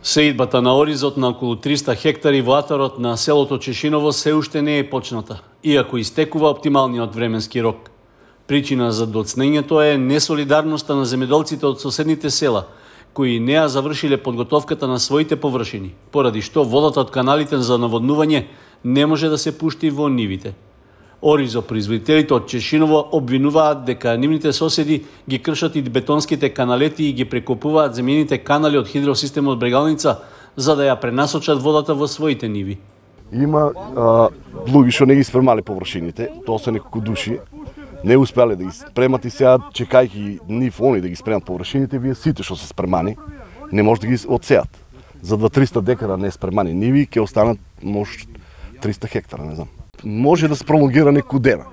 Сеидбата на оризот на околу 300 хектари во атарот на селото Чешиново се уште не е почната, иако истекува оптималниот временски рок. Причина за доцнењето е несолидарноста на земјоделците од соседните села, кои не ја завршиле подготовката на своите површини, поради што водата од каналите за наводнување не може да се пушти во нивите. Оризо производителите од Чешиново обвинуваат дека нивните соседи ги кршат и бетонските каналети и ги прекопуваат земјените канали од хидросистемот Брегалница за да ја пренасочат водата во своите ниви. Има луѓе што не ги спремале површините, тоа се неколку души, не успеале да ги спремат и сега чекајќи нив они да ги спремат површините, вие сите што се спремани не може да ги одсеат. За 200-300 декара не спремани ниви ќе останат може 300 хектара, не знам. Може да се пролонгира неколку дена,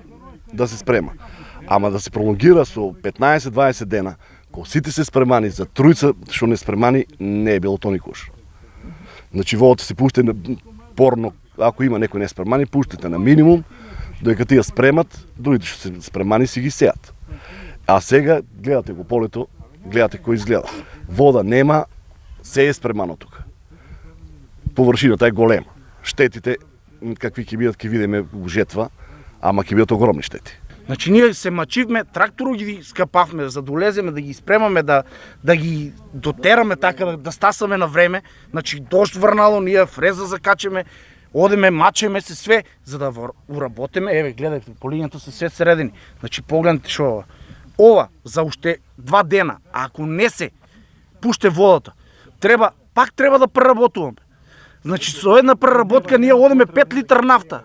да се спрема. Ама да се пролонгира со 15-20 дена, кога сите се спремани за тројца што не спремани, не е било тоа никош. Значи водата се пушти порно, ако има некој не спремани, пуштите на минимум, додека тие спремат, другите што се спремани си ги сеат. А сега гледате го полето, гледате кој изгледа. Вода нема, се е спремано тука. Површината е голема. Штетите какви ќе бидат, ќе видиме во жетва, ама ќе бидат огромни штети. Значи ние се мачивме, трактору ги скапавме за да улеземе, да ги спремаме, да ги дотераме така, да стасаме на време. Значи дожд врнало, ние фреза закачеме, одеме, мачеме се све, за да уработиме. Еве, гледате, по линијата се све средени. Значи погледнете шо ова за уште 2 дена, а ако не се пуште водата, пак треба да преработуваме. Значи со една преработка ние одеме 5 литра нафта.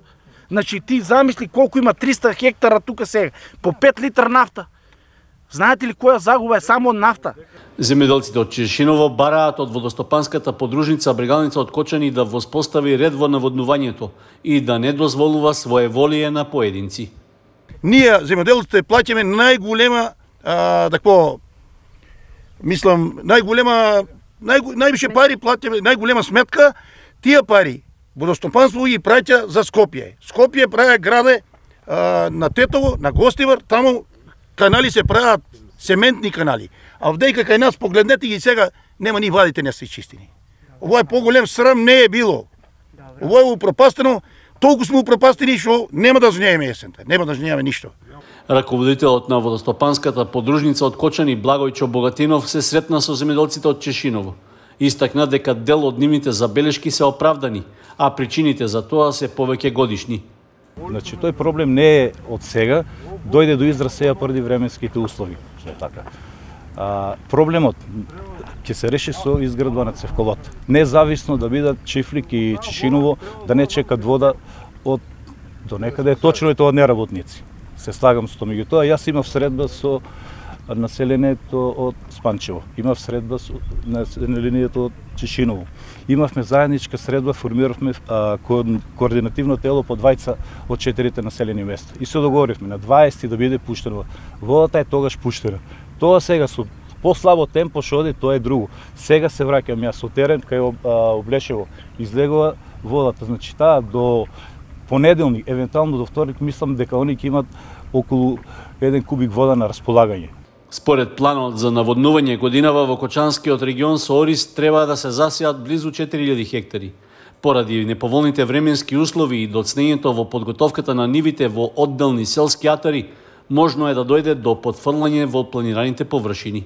Значи ти замисли колку има 300 хектара тука сега, по 5 литра нафта. Знаете ли која загуба е само од нафта? Земјоделците од Чешиново бараат од водостопанската подружница Брегалница од Кочани да воспостави ред во наводнувањето и да не дозволува своеволие на поединци. Ние земјоделците плаќаме најголема највише пари платиме, најголема сметка. Тие пари водостопанство ги праќа за Скопје. Скопје прави граде на Тетово, на Гостивар, таму канали се прават сементни канали. А вдејка кај нас погледнете ги сега нема ни вадите не се чистини. Ово е поголем срам не е било. Ово е упропастено, толку сме упропастени што нема да жнееме есента, нема да жнееме ништо. Раководителот на водостопанската подружница од Кочани Благојчо Богатинов се сретна со земјоделците од Чешиново. Истакна дека дел од нивните забелешки се оправдани, а причините за тоа се повеќе годишни. Значи тој проблем не е од сега, дојде до израз сега поради временските услови, што е така. Проблемот ќе се реши со изградба на цевковод. Независно да бидат Чифлик и Чешиново, да не чекат вода од до некаде, точно е тоа неработници. Се слагам со тоа, меѓутоа јас имав средба со населението од Спанчево, имав средба со населението од Чешиново. Имавме заедничка средба, формиравме координативно тело по двајца од 4 населени места. И се договоривме на 20 да биде пуштена. Водата е тогаш пуштена. Тоа сега со послабо темпо што оди, тоа е друго. Сега се враќам јас со терен кај Облешево. Излегува водата, значи таа до понеделник, евентуално до вторник, мислам дека они ќе имат околу 1 кубик вода на располагање. Според планот за наводнување годинава во Кочанскиот регион со ориз треба да се засеат близу 4000 хектари. Поради неповолните временски услови и доцнењето во подготовката на нивите во одделни селски атари, можно е да дојде до потфрлање во планираните површини.